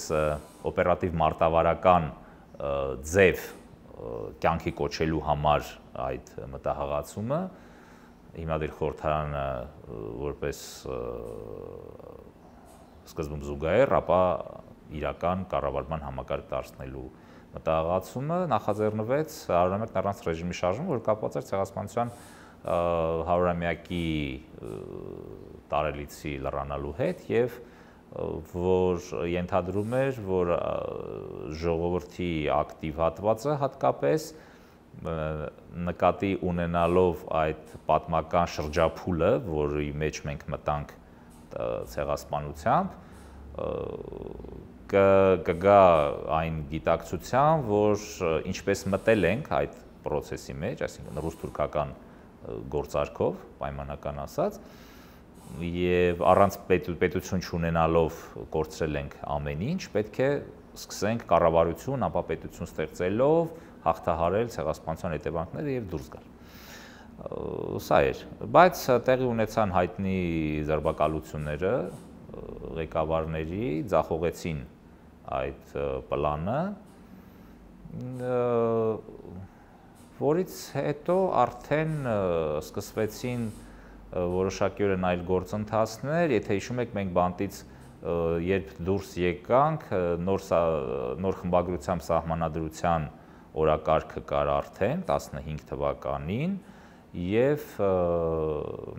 օպերատիվ մարտավարական ձև կյանքի կոչելու համար այդ մտահղացումը հիմնադիր խորհրդարանը որպես սկզբում զուգահեռ, ապա իրական կառավարման համակարգ դարձնելու մտահղացումը նախաձեռնվեց հարյուրամյակն առանց ռեժիմի շարժումը, որ կապված էր ցեղասպանության հարյուրամյակի տարելիցի լրանալու հետ եւ որ ենթադրում էր, որ ժողովրդի ակտիվ հատվածը հատկապես նկատի ունենալով այդ պատմական շրջափուլը, որի մեջ մենք մտանք ցեղասպանությամբ, կգա այն գիտակցության, որ ինչպես մտել ենք այդ process-ի մեջ, այսինքն ռուս-թուրքական գործարքով, պայմանական ասած, եւ առանց պետություն չունենալով կորցրել ենք ամեն ինչ, պետք է սկսենք կառավարություն, ապա պետություն ստեղծելով հաղթահարել ցեղասպանության հետևանքները եւ դուրս գալ։ Սա էր, բայց տեղի ունեցան հայտնի ձերբակալությունները, ղեկավարների ձախողեցին այդ պլանը, որից հետո արդեն սկսվեցին որոշակիորեն այլ գործընթացներ, եթե հիշում եք, մենք բանտից երբ դուրս եկանք, նոր նոր խմբագրությամբ սահմանադրության օրակարգը կար արդեն տասնհինգ թվականին եւ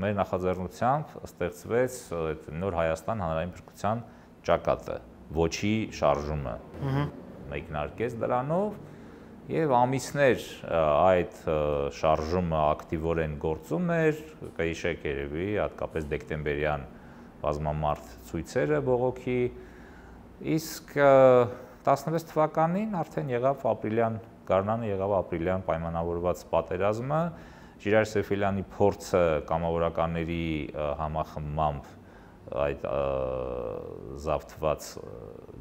մեր նախաձեռնությամբ ստեղծվեց այդ նոր Հայաստան հանրային փրկության ճակատը, ոչի շարժումը մեկնարկեց դրանով եւ ամիսներ այդ շարժումը ակտիվորեն գործում էր, կհիշեք երևի հատկապես դեկտեմբերյան բազմամարդ ցույցերը բողոքի, իսկ տասնվեց թվականին արդեն եղավ ապրիլյան գարնանը, եղավ ապրիլյան պայմանավորված պատերազմը, Ժիրայր Սեֆիլյանի փորձը կամավորականների համախմբմամբ այդ զավթված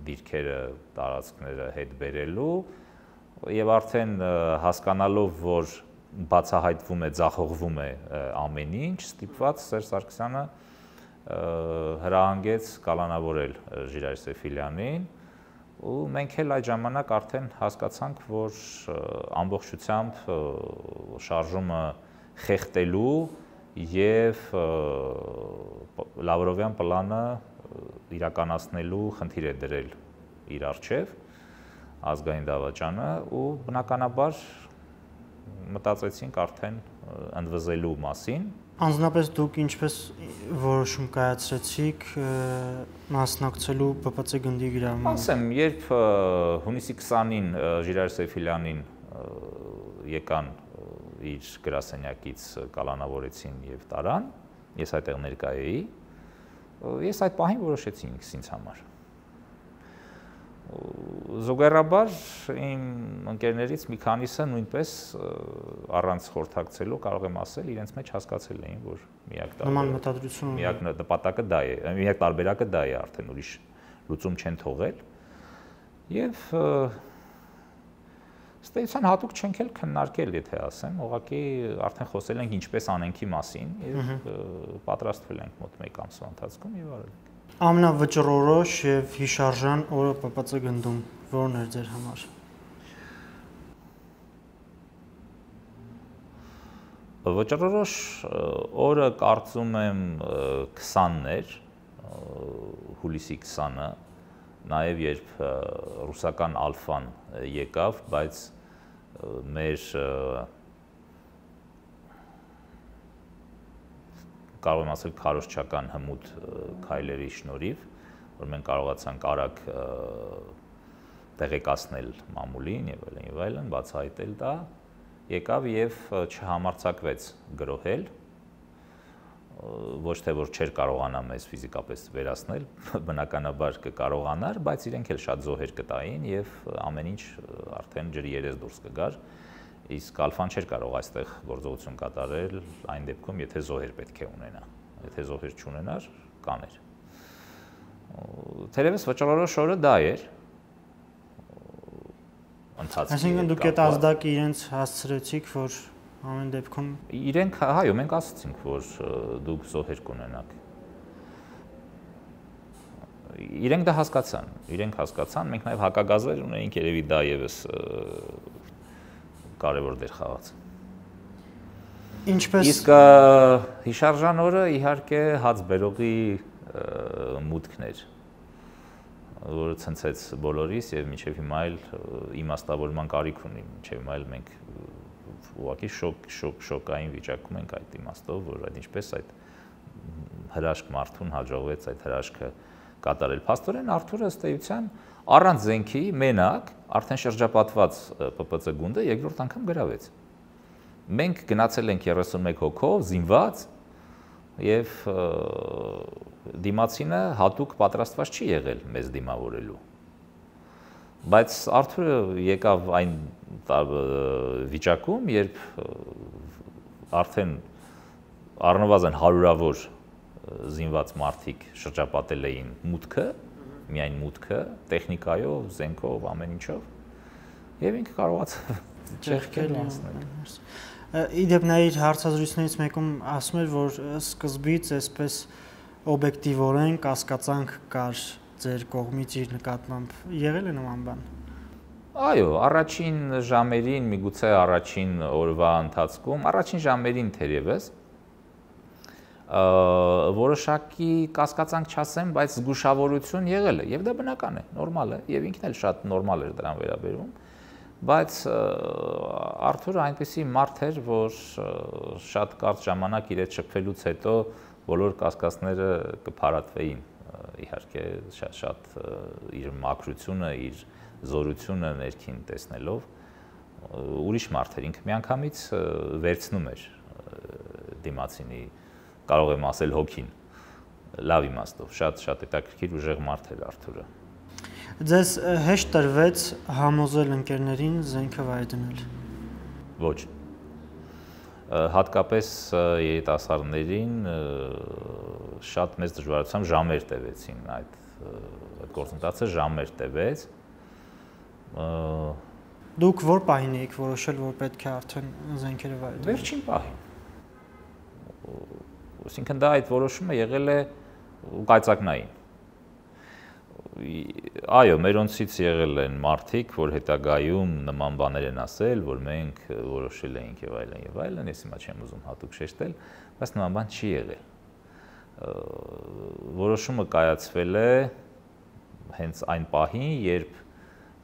դիրքերը, տարածքները հետ բերելու եւ արդեն հասկանալով, որ բացահայտվում է, ձախողվում է ամեն ինչ, ստիպված Սերժ Սարգսյանը հրահանգեց կալանավորել Ժիրայր Սեֆիլյանին ու մենք էլ այդ ժամանակ արդեն հասկացանք, որ ամբողջությամբ շարժումը խեղտելու եւ Լավրովյան պլանը իրականացնելու խնդիր է դրել իր առջև ազգային դավաճանը ու բնականաբար մտածեցինք արդեն ընդվզելու մասին։ Անձնապես դուք ինչպես որոշում կայացրեցիք մասնակցելու Բ Պ Ց գնդի գրավմանը։ Ասեմ, երբ հունիսի քսանին Ժիրայր Սեֆիլյանին եկան իր գրասենյակից կալանավորեցին եւ տարան, ես այդտեղ ներկա էի, ես այդ պահին որոշեցի ինքս համար։ Զուգահեռաբար իմ ընկերներից մի քանիսը նույնպես առանց խորհրդակցելու կարող եմ ասել, իրենց մեջ հասկացել էին, որ միակ տարբերակը միակ նպատակը դա է, միակ տարբերակը դա է, արդեն ուրիշ լուծում չեն թողել։ Եվ ստեյցիան հատուկ չենք էլ քննարկել, եթե ասեմ, ուղղակի արդեն խոսել ենք ինչպես անենքի մասին եւ պատրաստվել ենք մոտ մեկ ամսվա ընթացքում եւ արել ենք։ Ամենավճռորոշ եւ հիշարժան օրը Բ Պ Ց գնդում ո՞րն էր ձեր համար։ Վճռորոշ օրը կարծում եմ քսանն էր, հուլիսի քսանը, նաեւ երբ ռուսական ալֆան եկավ, բայց մեր կարող եմ ասել քարոզչական հմուտ քայլերի շնորհիվ, որ մենք կարողացանք արագ տեղեկացնել մամուլին եւ այլն եւ այլն, բացահայտել դա, եկավ եւ չհամարձակվեց գրոհել, ոչ թե որ չէր կարողանա մեզ ֆիզիկապես վերացնել, բնականաբար կկարողանար, բայց իրենք էլ շատ զոհեր կտային եւ ամեն ինչ արդեն ջրի երես դուրս կգար, իսկ ալֆան չէր կարող այստեղ գործողություն կատարել այն դեպքում, եթե զոհեր պետք է ունենա, եթե զոհեր չունենար, կաներ։ Թերևս վճռորոշ օրը դա էր։ Այսինքն դուք այդ ազդակը իրենց հասցրեցիք, որ ամեն դեպքում իրենք հայո մենք ասացինք, որ դուք զոհեր կունենաք։ Իրենք դա հասկացան, իրենք հասկացան, մենք նաև հակագազեր ունեինք, երևի դա եւս կարևոր դեր խաղաց։ Ինչպես Իսկ հիշարժան օրը իհարկե հաց բերողի մուտքն էր։ որը ցնցեց բոլորիս եւ մինչեւ հիմա էլ իմաստավորման կարիք ունի, մինչեւ հիմա էլ մենք ուղղակի շոկ շոկ շոկային վիճակում ենք այդ իմաստով, որ այդ ինչպես այդ հրաշք մարդուն հաջողվեց այդ հրաշքը կատարել։ Փաստորեն Արթուրը ըստ էության առանց զենքի մենակ արդեն շրջապատված Պ Պ Ց գունդը երկրորդ անգամ գրավեց։ Մենք գնացել ենք երեսունմեկ հոգով զինված եւ դիմացինը հատուկ պատրաստված չի եղել մեզ դիմավորելու։ Բայց Արթուրը եկավ այն վիճակում, երբ արդեն առնվազն հարյուրավոր զինված մարդիկ շրջապատել էին մուտքը, միայն մուտքը, տեխնիկայով, զենքով, ամեն ինչով, եւ ինքը կարողացավ ճեղքել անցնել։ Իդեպ նա իր հարցազրույցներից մեկում ասում էր, որ սկզբից այսպես օբյեկտիվորեն կասկածանք կար ձեր կողմից իր նկատմամբ, եղել է նման բան։ Այո, առաջին ժամերին, միգուցե առաջին օրվա ընթացքում, առաջին ժամերին թերևս որոշակի կասկածանք չասեմ, բայց զգուշավորություն եղել է, եւ դա բնական է, նորմալ է, եւ ինքն էլ շատ նորմալ էր դրան վերաբերվում, բայց Արթուրը այնպեսի մարդ էր, որ շատ կարճ ժամանակ իր հետ շփվելուց հետո բոլոր կասկածները կփարատվեին, իհարկե շատ շատ իր մաքրությունը, իր զորությունը ներքին տեսնելով, ուրիշ մարդ էր, ինքը միանգամից վերցնում էր դիմացինի, կարող եմ ասել հոգին, լավ իմաստով, շատ շատ հետաքրքիր ուժեղ մարդ էր Արթուրը։ Ձեզ հեշտ տրվեց համոզել ընկերներին զենքը վայր դնել։ Ոչ։ Հատկապես երիտասարդներին շատ մեծ դժվարությամբ ժամեր տևեցին այդ այդ գործընթացը ժամեր տևեց։ Դուք որ պահին եք որոշել, որ պետք է արդեն զենքերը վայր դնել։ Վերջին պահին։ Այսինքն դա այդ որոշումը եղել է կայծակնային։ Այո, մերոնցից եղել են մարդիկ, որ հետագայում նման բաներ են ասել, որ մենք որոշել էինք եւ այլն եւ այլն, ես հիմա չեմ ուզում հատուկ շեշտել, բայց նման բան չի եղել։ Որոշումը կայացվել է հենց այն պահին, երբ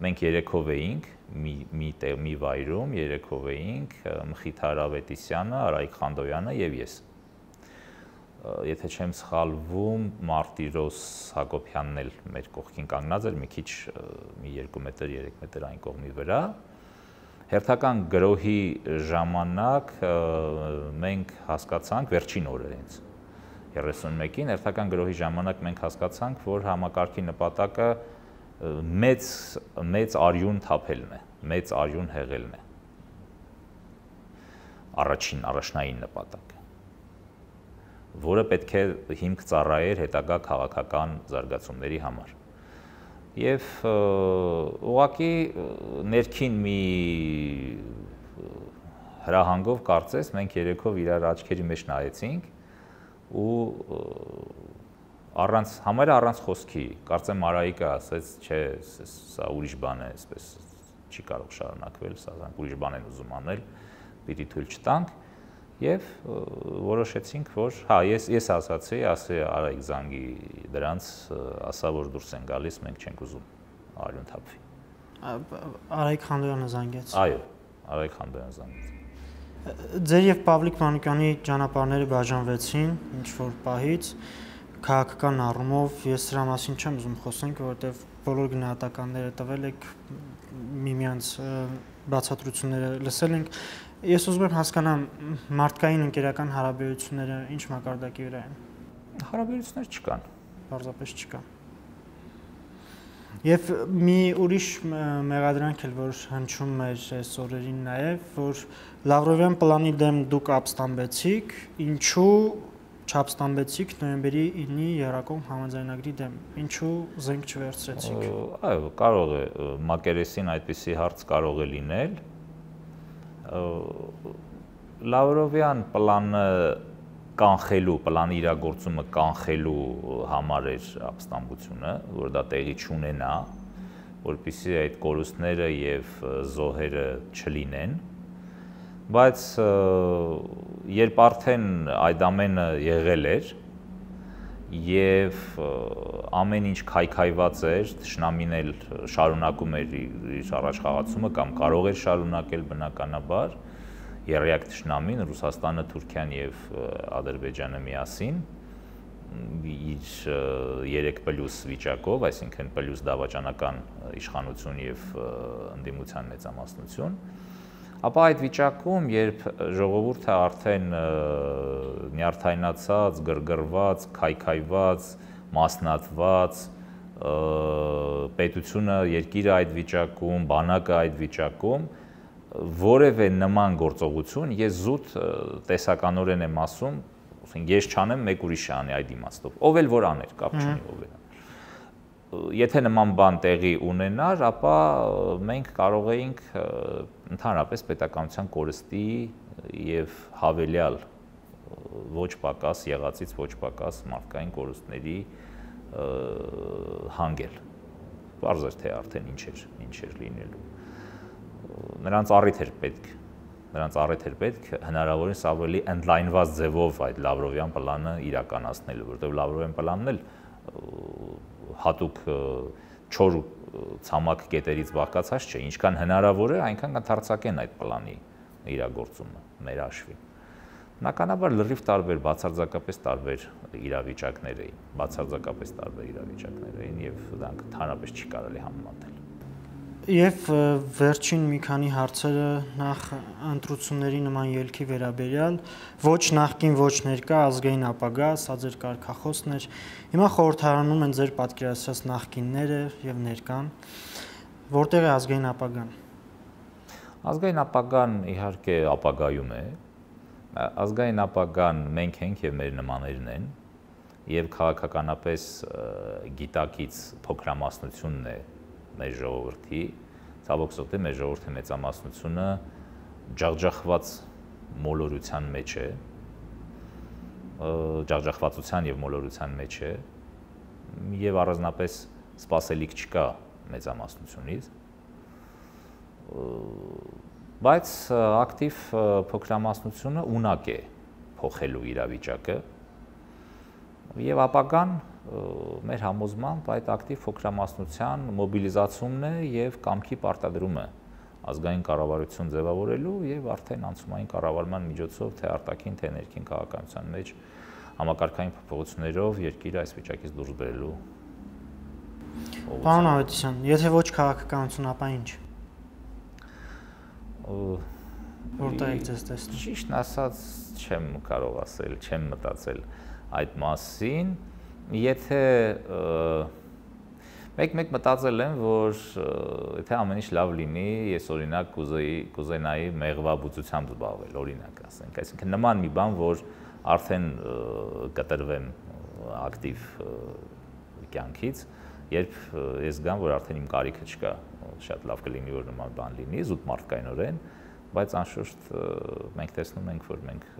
մենք երեքով էինք մի մի մի վայրում, երեքով էինք Մխիթար Ավետիսյանը, Արայիկ Խանդոյանը եւ ես։ Եթե չեմ սխալվում, Մարտիրոս Հակոբյանն էլ մեր կողքին կանգնած էր, մի քիչ մի երկու մետր, երեք մետր այն կողմի վրա։ Հերթական գրոհի ժամանակ մենք հասկացանք վերջին օրը հենց երեսունմեկին հերթական գրոհի ժամանակ մենք հասկացանք, որ համակարգի նպատակը մեծ մեծ արյուն թափելն է, մեծ արյուն հեղելն է։ Առաջին առաջնային նպատակը, որը պետք է հիմք ծառայեր հետագա քաղաքական զարգացումների համար։ Եվ ուղղակի ներքին մի հրահանգով կարծես մենք երեքով իրար աչքերի մեջ նայեցինք ու առանց համարը առանց խոսքի, կարծեմ Արայիկը ասեց, չէ, սա ուրիշ բան է, այսպես չի կարող շարունակվել, սա ուրիշ բան են ուզում անել, պիտի թույլ չտանք եւ որոշեցինք, որ հա, ես ես ասացի, ասի Արայիկ զանգի դրանց, ասա որ դուրս են գալիս, մենք չենք ուզում արյուն թափվի։ Արայիկ Խանդոյանը զանգեց։ Այո, Արայիկ Խանդոյանը զանգեց։ Ձեր եւ Պավլիկ Մանուկյանի ճանապարհները բաժանվեցին ինչ որ պահից, քաղաքական առումով ես դրա մասին չեմ ուզում խոսենք, որովհետեւ բոլոր գնահատականները տվել եք, միմյանց բացատրությունները լսել ենք։ Ես ուզում եմ հասկանամ մարդկային ընկերական հարաբերությունները ինչ մակարդակի վրա են։ Հարաբերություններ չկան, պարզապես չկան։ Եվ մի ուրիշ մեղադրանք էլ որ հնչում էր այս օրերին նաև, որ Լավրովյան պլանի դեմ դուք ապստամբեցիք, ինչու չապստամբեցիք նոյեմբերի ինի Եռակոմ համաձայնագրի դեմ, ինչու զենք չվերցրեցիք։ Այո, կարող է մակերեսին այդպիսի հարց կարող է լինել։ Լավրովյան պլանը կանխելու, պլանի իրագործումը կանխելու համար էր ապստամբությունը, որ դա տեղի չունենա, որպեսզի այդ կորուստները եւ զոհերը չլինեն, բայց երբ արդեն այդ ամենը եղել էր եւ ամեն ինչ քայքայված էր, թշնամին էլ շարունակում էր իր առաջխաղացումը կամ կարող էր շարունակել բնականաբար երրորդ թշնամին Ռուսաստանը, Թուրքիան եւ Ադրբեջանը միասին իր երեք պլյուս վիճակով, այսինքն պլյուս դավաճանական իշխանություն եւ ընդդիմության մեծամասնություն, ապա այդ վիճակում, երբ ժողովուրդը արդեն նյարդայնացած, գրգռված, քայքայված, մասնատված, պետությունը, երկիրը այդ վիճակում, բանակը այդ վիճակում, որևէ նման գործողություն ես զուտ տեսականորեն եմ ասում, ես չանեմ, մեկ ուրիշ անի այդ իմաստով, ով էլ որ աներ, կապ չունի ով էլ։ Եթե նման բան տեղի ունենար, ապա մենք կարող էինք ընդհանրապես պետականության կորստի եւ հավելյալ ոչ պակաս եղածից ոչ պակաս մարդկային կորուստների հանգել։ Պարզ էր թե արդեն ինչ էր, ինչ էր լինելու։ Նրանց առիթ էր պետք, նրանց առիթ էր պետք հնարավորինս ավելի ընդլայնված ձևով այդ Լավրովյան պլանը իրականացնելու, որովհետեւ Լավրովյան պլանն էլ հատուկ չոր ցամաք կետերից բաղկացած չէ, ինչքան հնարավոր է, այնքան կընթերցակեն այդ պլանի իրագործումը մեր հաշվին։ Բնականաբար լրիվ տարբեր, բացարձակապես տարբեր իրավիճակներ էին, բացարձակապես տարբեր իրավիճակներ էին եւ դրանք ընդհանրապես չի կարելի համեմատել։ Եվ վերջին մի քանի հարցերը նախ ընտրությունների նման ելքի վերաբերյալ, ոչ նախկին, ոչ ներկա ազգային ապագա, սա ձեր կարգախոսն էր։ Հիմա խորհրդարանում են ձեր պատկերացրած նախկինները եւ ներկան, որտեղ է ազգային ապագան։ Ազգային ապագան իհարկե ապագայում է։ Ազգային ապագան մենք ենք եւ մեր նմաններն են եւ քաղաքականապես գիտակից փոքրամասնությունն է մեր ժողովրդի, ցավոք սրտի մեր ժողովրդի մեծամասնությունը ջախջախված մոլորության մեջ է, ջախջախվածության եւ մոլորության մեջ է եւ առանձնապես սպասելիք չկա մեծամասնությունից, բայց ակտիվ փոքրամասնությունը ունակ է փոխելու իրավիճակը եւ ապագան մեր համոզմամբ այդ ակտիվ փոքրամասնության մոբիլիզացումն է եւ կամքի պարտադրումը ազգային կառավարություն ձևավորելու եւ արդեն անցումային կառավարման միջոցով թե արտաքին թե ներքին քաղաքականության մեջ համակարգային փոփոխություններով երկիրը այս վիճակից դուրս բերելու։ Պարոն Ավետիսյան, եթե ոչ քաղաքականություն, ապա ինչ։ Որտեղ եք ձեզ տեսնում։ Ճիշտ ասած չեմ կարող ասել, չեմ մտածել այդ մասին, եթե մեկ-մեկ մտածել եմ, որ եթե ամեն ինչ լավ լինի, ես օրինակ կուզեի, կուզենայի մեղվաբուծությամբ զբաղվել, օրինակ ասենք, այսինքն նման մի բան, որ արդեն կտրվեմ ակտիվ կյանքից, երբ ես գամ, որ արդեն իմ կարիքը չկա, շատ լավ կլինի, որ նման բան լինի, զուտ մարդկայնորեն, բայց անշուշտ մենք տեսնում ենք, որ մենք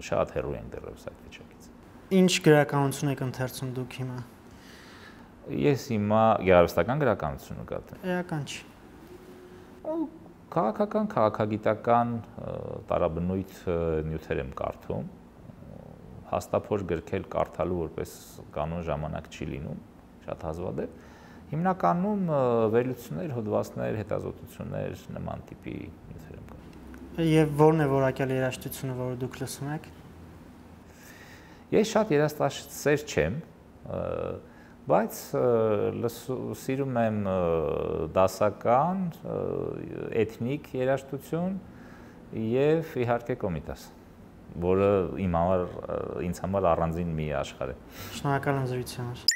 շատ հեռու ենք դեռևս այդ վիճակից։ Ինչ գրականություն եք ընթերցում դուք հիմա։ Ես հիմա գեղարվեստական գրականություն նկատեմ։ Էական չի։ Քաղաքական, քաղաքագիտական տարաբնույթ նյութեր եմ կարդում։ Հաստափոր գրքեր կարդալու որպես կանոն ժամանակ չի լինում, շատ հազվադեպ։ Հիմնականում վերլուծություններ, հոդվածներ, հետազոտություններ, նման տիպի նյութեր եմ կարդում։ Եվ ո՞րն է որակյալ երաժշտությունը, որը դուք լսում եք։ Ես շատ երաժշտասեր չեմ, բայց սիրում եմ դասական, էթնիկ երաժշտություն եւ իհարկե կոմիտաս, որը իմ համար ինձ համար առանձին մի աշխարհ է։ Շնորհակալ եմ զրույցի համար։